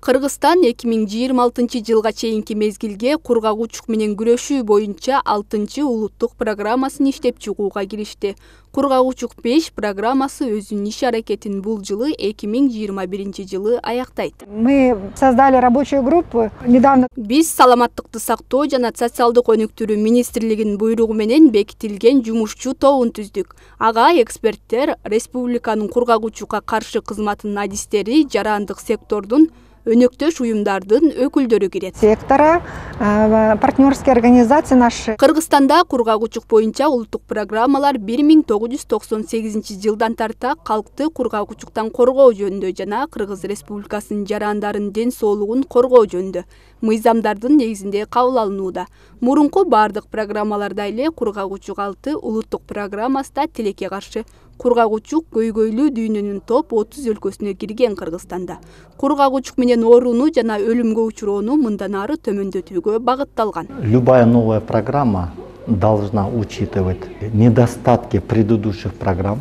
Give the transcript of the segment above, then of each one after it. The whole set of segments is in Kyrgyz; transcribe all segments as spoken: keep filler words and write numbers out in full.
Кыргызстан эки миң жыйырма алтынчы жылга чейинки мезгилге кургагучук менен күрөшүү боюнча алтынчы улуттук программасын иштеп чыгууга киришти. Кургагучук беш программасы өзүнүн иш аракетин бул жылы эки миң жыйырма биринчи жылы аяктайт. Мы создали рабочую группу недавно. Биз саламаттыкты сактоо жана социалдык өнүктүрүү министрлигинин буйругу менен бекитилген жумушчу тобун түздүк. Ага эксперттер республиканын кургагучукка каршы кызматынын адистери, жарандык сектордун, өнөктөш уюмдардын өкүлдөрү кирет. Сектора, партнерские организации наши. Кыргызстанда кургагучук боюнча улуттук программалар бир миң тогуз жүз токсон сегизинчи жылдан тарта калкты кургагучуктан коргоо жөнүндө жана Кыргыз Республикасынын жарандарынын ден соолугун коргоо жөнүндө мыйзамдардын негизинде кабыл алынууда. Мурунку бардык программаларда эле кургагучук алты улуттук программасында тилекке каршы кургагучук көйгөйлүү дүйнөнүн топ отуз өлкөсүнө кирген Кыргызстанда. Кургагучук менен ооруну жана өлүмгө учуроону мындан ары төмөндөтүүгө багытталган. Любая новая программа должна учитывать недостатки предыдущих программ.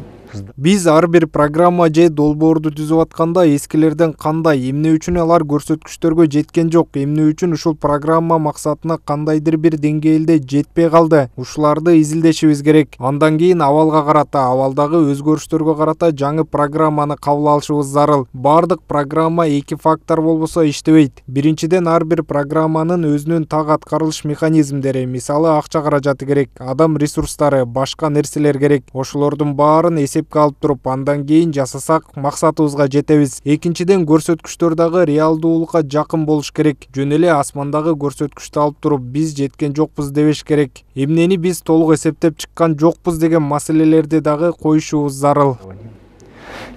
Биз ар бир программа же долбоорду түзүп атканда эскилерден кандай, эмне үчүн алар көрсөткүчтөргө жеткен жок, эмне үчүн ушул программа максатына кандайдыр бир деңгээлде жетпей калды, ушуларды изилдешибиз керек. Андан кийин абалга карата, абалдагы өзгөрүштөргө карата жаңы программаны кабыл алышыбыз зарыл. Бардык программа эки фактор болбосо иштебейт. Биринчиден, ар бир программанын өзүнүн так аткарылыш механизмдери, мисалы акча каражаты керек, адам ресурстары, башка нерселер керек. Ошолордун баарын эсеп алып туруп, андан кийин жасасак максатыбызга жетебиз. Экинчиден, көрсөткүчтөр дагы реалдуулукка жакын болуш керек. Жөн эле асмандагы көрсөткүчтү алып туруп, биз жеткен жокпуз дебеш керек. Эмнени биз толук эсептеп чыккан жокпуз деген маселелерди дагы коюшубуз зарыл.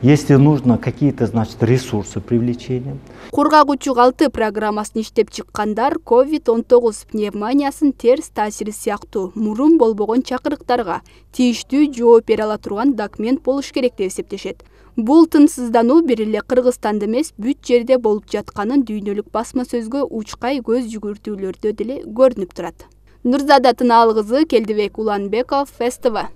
Если нужно какие-то, значит, ресурсы привлечения. Кургагучук алты программасын иштеп чыккандар ковид он тогуз пневмониясын терс таасири сыяктуу мурун болбогон чакырыктарга тийиштүү жооп бере ала турган документ болуш керек деп эсептешет. Бул тынчсыздануу бир эле Кыргызстанда эмес, бүт жерде болуп жатканын дүйнөлүк басма сөзгө учкай көз жүгүртүүлөрдө деле көрүнүп турат. Нурзада Тынаалы кызы, Келдибек Уланбеков, СТВ.